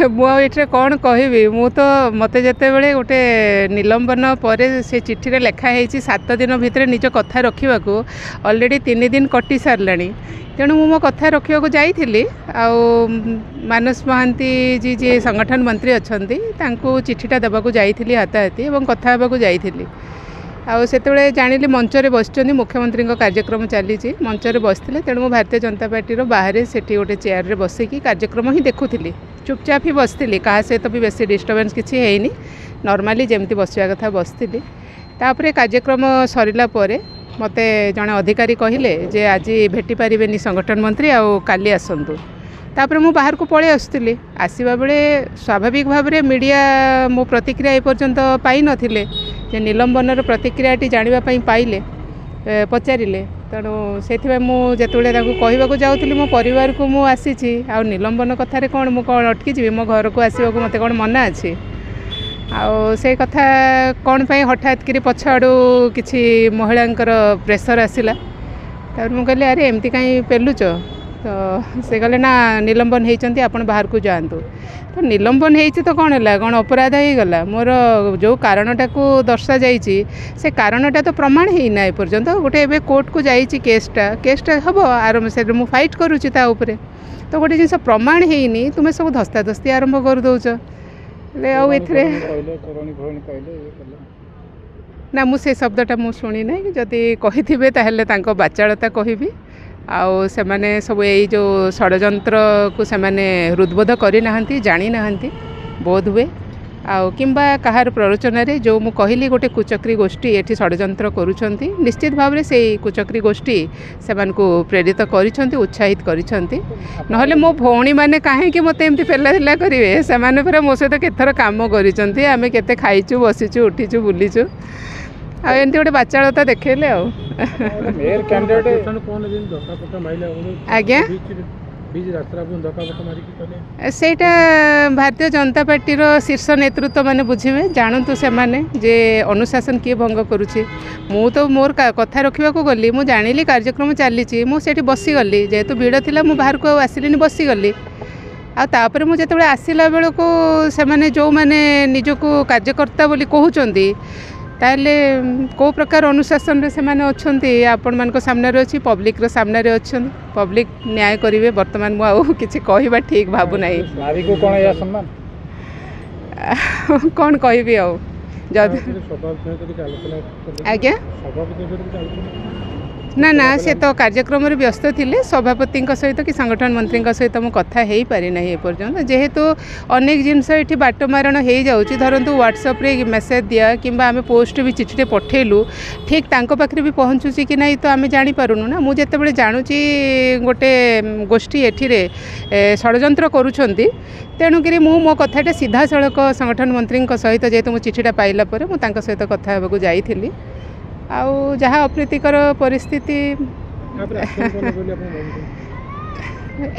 ମୁଁ ଆଉ ଏଥିରେ କ'ଣ କହିବି? ମୁଁ ତ ମୋତେ ଯେତେବେଳେ ଗୋଟେ ନିଲମ୍ବନ ପରେ ସେ ଚିଠିରେ ଲେଖା ହେଇଛି 7 ଦିନ ଭିତରେ ନିଜ କଥା ରଖିବାକୁ, ଅଲରେଡ଼ି 3 ଦିନ କଟି ସାରିଲାଣି। ତେଣୁ ମୁଁ ମୋ କଥା ରଖିବାକୁ ଯାଇଥିଲି ଆଉ ମାନସ ମହାନ୍ତି ଜି, ଯିଏ ସଂଗଠନ ମନ୍ତ୍ରୀ ଅଛନ୍ତି, ତାଙ୍କୁ ଚିଠିଟା ଦେବାକୁ ଯାଇଥିଲି ହାତାହାତି ଏବଂ କଥା ହେବାକୁ ଯାଇଥିଲି। ଆଉ ସେତେବେଳେ ଜାଣିଲି ମଞ୍ଚରେ ବସିଛନ୍ତି, ମୁଖ୍ୟମନ୍ତ୍ରୀଙ୍କ କାର୍ଯ୍ୟକ୍ରମ ଚାଲିଛି, ମଞ୍ଚରେ ବସିଥିଲେ। ତେଣୁ ମୁଁ ଭାରତୀୟ ଜନତା ପାର୍ଟିର ବାହାରେ ସେଠି ଗୋଟେ ଚେୟାରରେ ବସିକି କାର୍ଯ୍ୟକ୍ରମ ହିଁ ଦେଖୁଥିଲି, ଚୁପଚାପ ହିଁ ବସିଥିଲି, କାହା ସହିତ ବି ବେଶୀ ଡିଷ୍ଟର୍ବାନ୍ସ କିଛି ହେଇନି, ନର୍ମାଲି ଯେମିତି ବସିବା କଥା ବସିଥିଲି। ତାପରେ କାର୍ଯ୍ୟକ୍ରମ ସରିଲା ପରେ ମୋତେ ଜଣେ ଅଧିକାରୀ କହିଲେ ଯେ ଆଜି ଭେଟି ପାରିବେନି ସଂଗଠନ ମନ୍ତ୍ରୀ, ଆଉ କାଲି ଆସନ୍ତୁ। ତାପରେ ମୁଁ ବାହାରକୁ ପଳେଇ ଆସୁଥିଲି। ଆସିବା ବେଳେ ସ୍ୱାଭାବିକ ଭାବରେ ମିଡ଼ିଆ ମୋ ପ୍ରତିକ୍ରିୟା ଏପର୍ଯ୍ୟନ୍ତ ପାଇନଥିଲେ, ଯେ ନିଲମ୍ବନର ପ୍ରତିକ୍ରିୟାଟି ଜାଣିବା ପାଇଁ ପାଇଲେ, ପଚାରିଲେ। ତେଣୁ ସେଥିପାଇଁ ମୁଁ ଯେତେବେଳେ ତାଙ୍କୁ କହିବାକୁ ଯାଉଥିଲି ମୋ ପରିବାରକୁ ମୁଁ ଆସିଛି, ଆଉ ନିଲମ୍ବନ କଥାରେ କ'ଣ ମୁଁ କ'ଣ ଅଟକିଯିବି? ମୋ ଘରକୁ ଆସିବାକୁ ମୋତେ କ'ଣ ମନା ଅଛି? ଆଉ ସେ କଥା କ'ଣ ପାଇଁ ହଠାତ୍ କିରି ପଛଆଡ଼ୁ କିଛି ମହିଳାଙ୍କର ପ୍ରେସର୍ ଆସିଲା। ତାପରେ ମୁଁ କହିଲି, ଆରେ ଏମିତି କାହିଁ ପେଲୁଛ? ତ ସେ କହିଲେ, ନା ନିଲମ୍ବନ ହେଇଛନ୍ତି, ଆପଣ ବାହାରକୁ ଯାଆନ୍ତୁ। ତ ନିଲମ୍ବନ ହେଇଛି ତ କ'ଣ ହେଲା? କ'ଣ ଅପରାଧ ହେଇଗଲା ମୋର? ଯେଉଁ କାରଣଟାକୁ ଦର୍ଶାଯାଇଛି ସେ କାରଣଟା ତ ପ୍ରମାଣ ହେଇନା ଏପର୍ଯ୍ୟନ୍ତ। ଗୋଟେ ଏବେ କୋର୍ଟକୁ ଯାଇଛି କେସ୍ଟା, କେସ୍ଟା ହେବ ଆରମ୍ଭ, ସେଥିରେ ମୁଁ ଫାଇଟ୍ କରୁଛି ତା ଉପରେ। ତ ଗୋଟେ ଜିନିଷ ପ୍ରମାଣ ହେଇନି, ତୁମେ ସବୁ ଧସ୍ତାଧସ୍ତି ଆରମ୍ଭ କରିଦେଉଛ। ହେଲେ ଆଉ ଏଥିରେ ନା, ମୁଁ ସେ ଶବ୍ଦଟା ମୁଁ ଶୁଣି ନାହିଁ। ଯଦି କହିଥିବେ ତାହେଲେ ତାଙ୍କ ବାଚାଳତା କହିବି। ଆଉ ସେମାନେ ସବୁ ଏଇ ଯେଉଁ ଷଡ଼ଯନ୍ତ୍ରକୁ ସେମାନେ ହୃଦବୋଧ କରିନାହାନ୍ତି, ଜାଣିନାହାନ୍ତି ବୋଧ ହୁଏ, ଆଉ କିମ୍ବା କାହାର ପ୍ରରୋଚନାରେ। ଯେଉଁ ମୁଁ କହିଲି ଗୋଟେ କୁଚକ୍ରୀ ଗୋଷ୍ଠୀ ଏଠି ଷଡ଼ଯନ୍ତ୍ର କରୁଛନ୍ତି, ନିଶ୍ଚିତ ଭାବରେ ସେଇ କୁଚକ୍ରୀ ଗୋଷ୍ଠୀ ସେମାନଙ୍କୁ ପ୍ରେରିତ କରିଛନ୍ତି, ଉତ୍ସାହିତ କରିଛନ୍ତି। ନହେଲେ ମୋ ଭଉଣୀମାନେ କାହିଁକି ମୋତେ ଏମିତି ପେଲା କରିବେ? ସେମାନେ ପୁରା ମୋ ସହିତ କେତେଥର କାମ କରିଛନ୍ତି, ଆମେ କେତେ ଖାଇଛୁ, ବସିଛୁ, ଉଠିଛୁ, ବୁଲିଛୁ, ଆଉ ଏମିତି ଗୋଟେ ବାଚାଳତା ଦେଖେଇଲେ। ଆଉ ଆଜ୍ଞା, ସେଇଟା ଭାରତୀୟ ଜନତା ପାର୍ଟିର ଶୀର୍ଷ ନେତୃତ୍ୱ ମାନେ ବୁଝିବେ, ଜାଣନ୍ତୁ ସେମାନେ ଯେ ଅନୁଶାସନ କିଏ ଭଙ୍ଗ କରୁଛି। ମୁଁ ତ ମୋର କଥା ରଖିବାକୁ ଗଲି। ମୁଁ ଜାଣିଲି କାର୍ଯ୍ୟକ୍ରମ ଚାଲିଛି, ମୁଁ ସେଇଠି ବସିଗଲି। ଯେହେତୁ ଭିଡ଼ ଥିଲା ମୁଁ ବାହାରକୁ ଆଉ ଆସିଲିନି, ବସିଗଲି। ଆଉ ତାପରେ ମୁଁ ଯେତେବେଳେ ଆସିଲା ବେଳକୁ ସେମାନେ ଯେଉଁମାନେ ନିଜକୁ କାର୍ଯ୍ୟକର୍ତ୍ତା ବୋଲି କହୁଛନ୍ତି, ତାହେଲେ କେଉଁ ପ୍ରକାର ଅନୁଶାସନରେ ସେମାନେ ଅଛନ୍ତି ଆପଣମାନଙ୍କ ସାମ୍ନାରେ ଅଛି, ପବ୍ଲିକର ସାମ୍ନାରେ ଅଛନ୍ତି, ପବ୍ଲିକ ନ୍ୟାୟ କରିବେ। ବର୍ତ୍ତମାନ ମୁଁ ଆଉ କିଛି କହିବା ଠିକ୍ ଭାବୁନାହିଁ। କ'ଣ କହିବି ଆଉ ଯଦି ଆଜ୍ଞା? ନା ନା, ସେ ତ କାର୍ଯ୍ୟକ୍ରମରେ ବ୍ୟସ୍ତ ଥିଲେ। ସଭାପତିଙ୍କ ସହିତ କି ସଂଗଠନ ମନ୍ତ୍ରୀଙ୍କ ସହିତ ମୁଁ କଥା ହେଇପାରିନାହିଁ ଏପର୍ଯ୍ୟନ୍ତ, ଯେହେତୁ ଅନେକ ଜିନିଷ ଏଠି ବାଟ ମାରଣ ହେଇଯାଉଛି। ଧରନ୍ତୁ ହ୍ୱାଟ୍ସଆପ୍ରେ ମେସେଜ୍ ଦିଆ କିମ୍ବା ଆମେ ପୋଷ୍ଟ ବି ଚିଠିଟେ ପଠେଇଲୁ, ଠିକ୍ ତାଙ୍କ ପାଖରେ ବି ପହଞ୍ଚୁଛି କି ନାହିଁ ତ ଆମେ ଜାଣିପାରୁନୁ ନା। ମୁଁ ଯେତେବେଳେ ଜାଣୁଛି ଗୋଟେ ଗୋଷ୍ଠୀ ଏଠିରେ ଷଡ଼ଯନ୍ତ୍ର କରୁଛନ୍ତି, ତେଣୁକରି ମୁଁ ମୋ କଥାଟା ସିଧାସଳଖ ସଂଗଠନ ମନ୍ତ୍ରୀଙ୍କ ସହିତ, ଯେହେତୁ ମୁଁ ଚିଠିଟା ପାଇଲା ପରେ ମୁଁ ତାଙ୍କ ସହିତ କଥା ହେବାକୁ ଯାଇଥିଲି। ଆଉ ଯାହା ଅପ୍ରୀତିକର ପରିସ୍ଥିତି,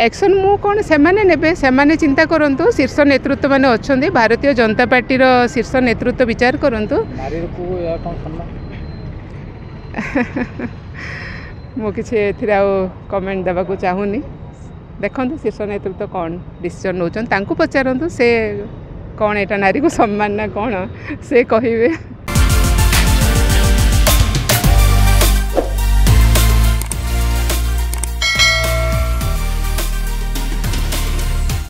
ଆକ୍ସନ୍ ମୁଁ କ'ଣ, ସେମାନେ ନେବେ, ସେମାନେ ଚିନ୍ତା କରନ୍ତୁ। ଶୀର୍ଷ ନେତୃତ୍ୱ ମାନେ ଅଛନ୍ତି, ଭାରତୀୟ ଜନତା ପାର୍ଟିର ଶୀର୍ଷ ନେତୃତ୍ୱ ବିଚାର କରନ୍ତୁ। ମୁଁ କିଛି ଏଥିରେ ଆଉ କମେଣ୍ଟ ଦେବାକୁ ଚାହୁଁନି। ଦେଖନ୍ତୁ ଶୀର୍ଷ ନେତୃତ୍ୱ କ'ଣ ଡିସିସନ୍ ନେଉଛନ୍ତି, ତାଙ୍କୁ ପଚାରନ୍ତୁ ସେ କ'ଣ ଏଇଟା ନାରୀକୁ ସମ୍ମାନ ନା କ'ଣ ସେ କହିବେ।